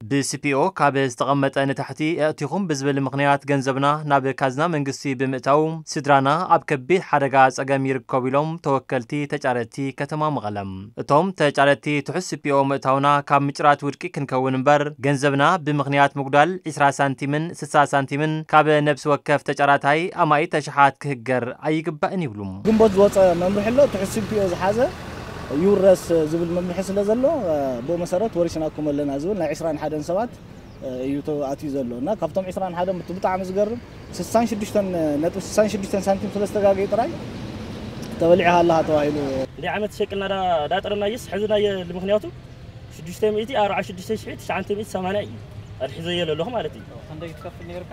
ብሲፒኦ ካብ ዝተቐመጠ ንታሕቲ ኣእቲኹም ብዝብል ምኽንያት ገንዘብና ናብ ካዝና መንግስቲ ብምእታው ስድራና ኣብ ከቢድ ሓደጋ ጸገም ይርከቡ ኢሎም ተወከልቲ ተጫረቲ ከተማ መቐለ። እቶም ተጫረቲ ትሑት ሲፒኦ ምእታውና ካብ ምጭራት ውድቂ ክንከውን እምበር ገንዘብና ብምኽንያት ምጉዳል ዕስራ ሳንቲምን ስሳ ሳንቲምን ካብ ነብሲ ወከፍ ተጫራታይ ኣማኢት ኣሽሓት ክህገር ኣይግባእን ይብሉ። ግንቦት ዝወፀ መምርሒ ኣሎ፣ ትሑት ሲፒኦ ዝሓዘ ይውረስ ዝብል መምርሒ ስለ ዘሎ፣ ብኡ መሰረት ወሪስናኩም ኣለና ዝብል ናይ ዕስራን ሓደን ሰባት እዩ ተኣትዩ ዘሎ። እና ካብቶም ዕስራን ሓደን ብጣዕሚ ዝገርም ስሳን ሽዱሽተን ነጥቢ ስሳን ሽዱሽተን ሳንቲም ስለ ዝተጋገዩ ጥራይ ተበሊዕኻ ኣለኻ ተባሂሉ። እንደ ዓመት ሸቅልና ዳጠረናየስ ሕዚ ናይ ምኽንያቱ ሽዱሽተ ሚእቲ ኣርባዓ ሽዱሽተ ሽሕ ትሽዓተ ሚእቲ ሰማንያ እዩ ኣድሒዘዮ ዘለኹ ማለት እዩ። ክንደይ ትከፍል ነይርካ?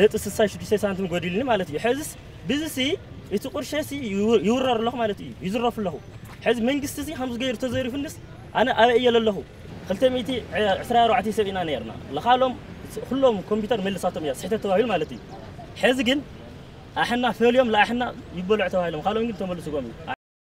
ነጥቢ ስሳ ሽዱሽተ ሳንቲም ጎዲልኒ ማለት እዩ። ሕዝስ ብዝሲ እቲ ቁርሸሲ ይውረር ኣለኹ ማለት እዩ፣ ይዝረፍ ኣለኹ። ሕዚ መንግስቲ እዚ ከምዚ ገይሩ ተዘሪፉንስ ኣነ ኣበይ እየ ዘለኹ? ክልተ ሚእቲ ዕስራ ኣርባዕተ ሰብ ኢና ነርና። ለኻሎም ኩሎም ኮምፒውተር መልሳቶም እያ ስሕተት ተባሂሉ ማለት እዩ። ሕዚ ግን ኣሕና ፈልዮም ለኣሕና ይበልዑ ተባሂሎም፣ ካልኦም ግን ተመልስጎም እዩ።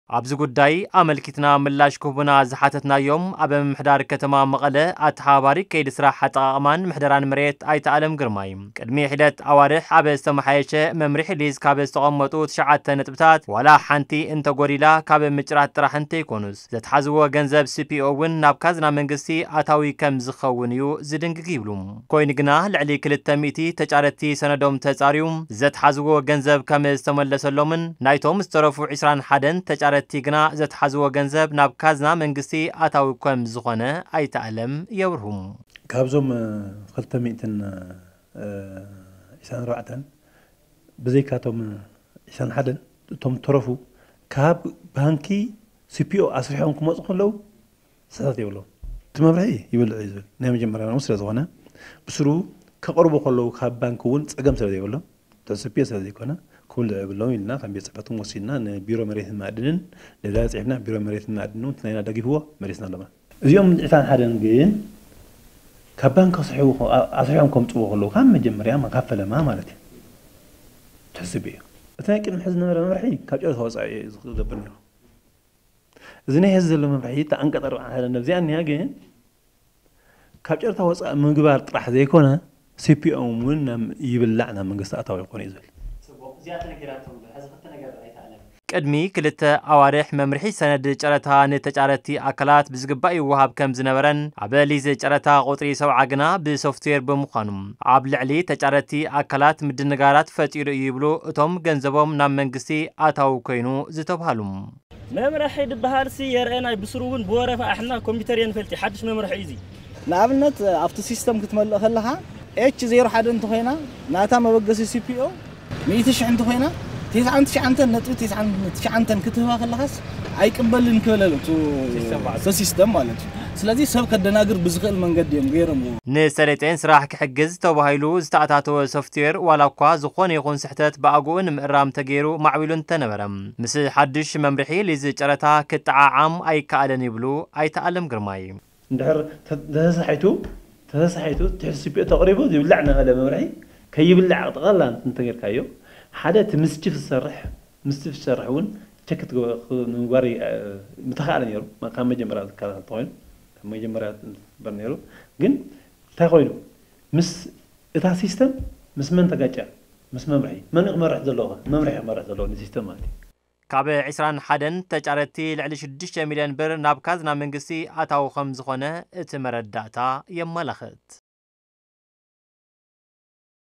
ኣብዚ ጉዳይ ኣመልኪትና ምላሽ ክህቡና ዝሓተትናዮም ኣብ ምምሕዳር ከተማ መቐለ ኣተሓባባሪ ከይዲ ስራሕ ኣጠቓቕማን ምሕደራን መሬት ኣይተ ኣለም ግርማይ፣ ቅድሚ ሒደት ኣዋርሕ ኣብ ዝተመሓየሸ መምርሒ ሊዝ ካብ ዝተቐመጡ ትሽዓተ ነጥብታት ዋላ ሓንቲ እንተጎዲላ ካብ ምጭራት ጥራሕ እንተይኮኑስ ዘትሓዝዎ ገንዘብ ሲፒኦ እውን ናብ ካዝና መንግስቲ ኣታዊ ከም ዝኸውን እዩ ዝድንግግ ይብሉ። ኮይኑ ግና ልዕሊ ክልተ ሚእቲ ተጫረቲ ሰነዶም ተጻርዩ ዘትሓዝዎ ገንዘብ ከም ዝተመለሰሎምን ናይቶም ዝተረፉ ዕስራን ሓደን ተጫረቲ ግና ዘትሓዝዎ ገንዘብ ናብ ካዝና መንግስቲ ኣታዊ ከም ዝኾነ ኣይተ ኣለም የብርሁ። ካብዞም ክልተ ሚእትን ዕስራን ኣርባዕተን ብዘይካቶም ዕስራን ሓደን እቶም ተረፉ ካብ ባንኪ ሲፒኦ ኣስሪሖም ክመፁ ከለዉ ስሕተት የብሎም። እቲ መብርሒ ይብልዕ እዩ ዝብል ናይ መጀመርያ ስለ ዝኾነ ብስሩ ከቕርቡ ከለዉ ካብ ባንኪ እውን ፀገም ስለ ዘይብሎም ትሕስፒ ስለ ዘይኮነ ክብልዕ የብሎም ኢልና ከም ቤት ፅሕፈትን ወሲድና ንቢሮ መሬትን ማዕድንን ደብዳቤ ፅሒፍና ቢሮ መሬትን ማዕድንን እውን ናይና ደጊፍዎ መሊስና ኣለና። እዚኦም ዕስራን ሓደን ግን ካብ ባንክ ኣስሪሖም ከምፅዎ ከለዉ ካብ መጀመርያ ካብ ፈለማ ማለት እዩ ትሕስቢ እዩ። እቲ ናይ ቅድሚ ሕዚ ዝነበረ መምርሒ ካብ ጨረታ ወፃኢ እዩ ዝገብር ነይሩ። እዚ ናይ ሕዚ ዘሎ መምርሒ እቲ ዓንቀፅ ኣርባዕተ ሓደ ነብዚኣ እኒያ ግን ካብ ጨረታ ወፃኢ ምግባር ጥራሕ ዘይኮነ ሲፒኦም እውን ይብላዕ ናብ መንግስቲ ኣታዊ ይኾን እዩ ዝብል። ቅድሚ ክልተ ኣዋርሕ መምርሒ ሰነድ ጨረታ ንተጫረቲ ኣካላት ብዝግባእ ይወሃብ ከም ዝነበረን ኣብ ሊዝ ጨረታ ቁፅሪ ሰብዓ ግና ብሶፍትዌር ብምዃኑ ኣብ ልዕሊ ተጫረቲ ኣካላት ምድንጋራት ፈጢሩ እዩ ይብሉ እቶም ገንዘቦም ናብ መንግስቲ ኣታዊ ኮይኑ ዝተብሃሉ። መምርሒ ድበሃልሲ የርአናይ ብስሩ እውን ብወረፋ ኣሕና ኮምፒተር የንፈልጢ ሓድሽ መምርሒ እዩ እዚ። ንኣብነት ኣብቲ ሲስተም ክትመልእ ከለኻ ኤች ዜሮ ሓደ እንተኾይና ናታ መበገሲ ሲፒኦ ሚእቲ ሽሕ እንተኾይና ቴስዓን ትሽዓንተን ነጥቢ ቴስዓን ትሽዓንተን ክትህባ ከለኻስ ኣይቅበልን ክብል ኣሎ እቲ ሲስተም ማለት እዩ። ስለዚ ሰብ ከደናግር ብዝኽእል መንገዲ እዮም ገይሮምዎ። ንሰሌጤን ስራሕ ክሕግዝ ተባሂሉ ዝተኣታተወ ሶፍትዌር ዋላ እኳ ዝኾነ ይኹን ስሕተት ብኣግኡ ንምእራም ተገይሩ ማዕቢሉ እንተነበረ ምስ ሓድሽ መምርሒ ሊዝ ጨረታ ክጠዓዓም ኣይከኣለን ይብሉ ኣይተ ኣለም ግርማይ። እንድሕር ተተሳሒቱ ተተሳሒቱ ትሕቲ ስፒኦ ተቕሪቡ ዝብላዕ እናበለ መምርሒ ከይብላዕ ጠቕላላ እንተጌርካዮ ሓደ እቲ ምስ ቺፍ ዝሰርሕ ምስ ቺፍ ዝሰርሕ እውን ቸክ ንምግባር ምተኻእለ ነይሩ ካብ መጀመርያ ዝከላኸል ተኾይኑ ካብ መጀመርያ ዝበር ነይሩ ግን እንታይ ኮይኑ ምስ እታ ሲስተም ምስ መን ተጋጭያ ምስ መምርሒ መን ክመርሕ ዘለዎ መምርሒ ክመርሕ ዘለዎ ንሲስተም ማለት እዩ። ካብ ዕስራን ሓደን ተጫረቲ ልዕሊ ሽዱሽተ ሚልዮን ብር ናብ ካዝና መንግስቲ ኣታዊ ከም ዝኾነ እቲ መረዳእታ የመላኽት።